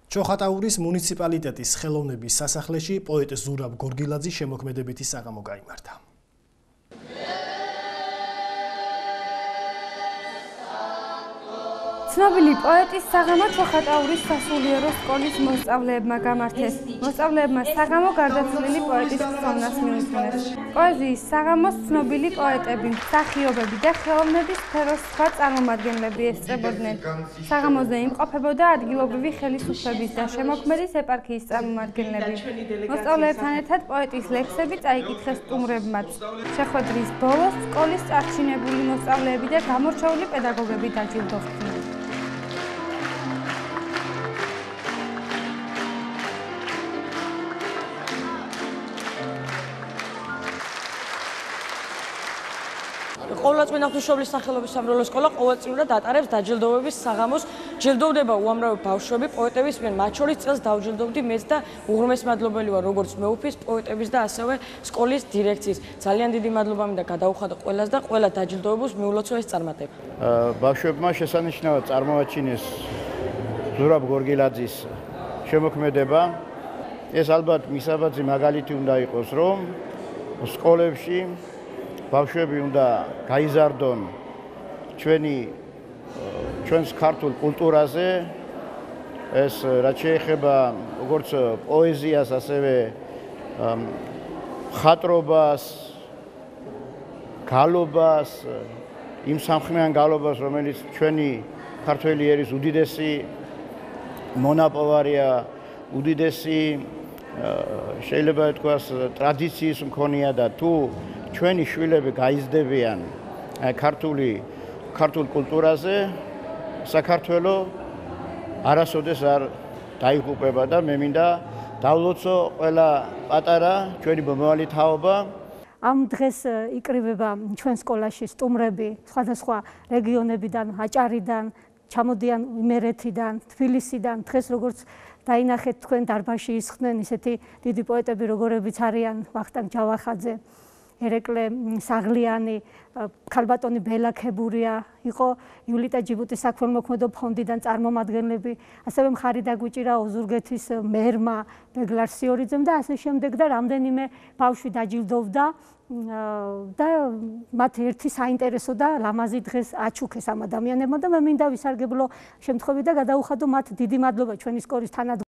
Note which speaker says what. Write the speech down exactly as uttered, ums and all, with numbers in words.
Speaker 1: ჩოხატაურის მუნიციპალიტეტის ხელოვნების სასახლეში პოეტ ზურაბ გორგილაძის შემოქმედებითი საღამო გაიმართა.
Speaker 2: ცნობილი პოეტის საღამო ჩოხატაურის სასულიერო სკოლის მოსწავლეებმა გამართეს. მოსწავლეებმა საღამო გარდაცვლილი პოეტის ხსოვნას მიუთმეს. პოეზიის საღამოს ცნობილი პოეტები, მსახიობები და ხელოვნების სფეროს სხვა წარმომადგენლები ესწრებოდნენ. საღამოზე იმყოფებოდა ადგილობრივი ხელისუფლების და შემოქმედის ეპარქიის წარმომადგენლები. მოსწავლეებთან ერთად პოეტის ლექსები წაიკითხეს სტუმრებმაც. შეხვედრის ბოლოს სკოლის წარჩინებული მოსწავლეები და გამორჩეული პედაგოგები დაჯილდოვდნენ.
Speaker 3: ყოველწლიურად ღვთისმშობლის სახელობის სამრევლო სკოლა ყოველწლიურად ატარებს დაჯილდოვების საღამოს. ჯილდოვდება უამრავი ბავშვები პოეტების მიერ, მათ შორის წელს დავჯილდოვდი მეც და უღრმეს მადლობელი ვარ როგორც მეუფის, პოეტების და ასევე სკოლის დირექციის. ძალიან დიდი მადლობა მინდა გადაუხადო ყველას და ყველა დაჯილდოებულს მიულოცო ეს წარმატება.
Speaker 4: ბავშვებმა შესანიშნავად წარმოაჩინეს ზურაბ გორგილაძის შემოქმედება. ეს ალბათ მისაბაძი მაგალითი უნდა იყოს, რომ სკოლებში ბავშვები უნდა გაიზარდონ ჩვენი ჩვენს ქართულ კულტურაზე, ეს რაც შეეხება როგორც პოეზიას, ასევე მხატვრობას, გალობას, იმ სამხმიან გალობას, რომელიც ჩვენი ქართველი ერის უდიდესი მონაპოვარია, უდიდესი შეიძლება ითქვას ტრადიციის მქონეა და თუ ჩვენი შვილები გაიზრდებიან ქართული ქართულ კულტურაზე, საქართველო არასოდეს არ დაიღუპება და მე მინდა დავლოცო ყველა პატარა ჩვენი მომავალი თაობა.
Speaker 5: ამ დღეს იკრიბება ჩვენ სკოლაში სტუმრები სხვადასხვა რეგიონებიდან, აჭარიდან, ჩამოდიან იმერეთიდან, თბილისიდან. დღეს როგორც დაინახეთ თქვენ დარბაზში ისხდნენ ისეთი დიდი პოეტები, როგორებიც არიან ვახტანგ ჯავახაძე, ერეკლე საღლიანი, ქალბატონი ბელა ქებურია, იყო იულიტა ჯიბუტის საქველმოქმედო ფონდიდან წარმომადგენლები, ასევე მხარი დაგვიჭირა ოზურგეთის მერმა, ბეგლარ სიორიძემ და ასე შემდეგ და რამდენიმე ბავშვი დაჯილდოვდა და მათ ერთი საინტერესო და ლამაზი დღეს აჩუქეს ამ ადამიანებმა და მე მინდა ვისარგებლო შემთხვევით და გადაუხადო მათ დიდი მადლობა ჩვენი სკოლის თანადგომებს.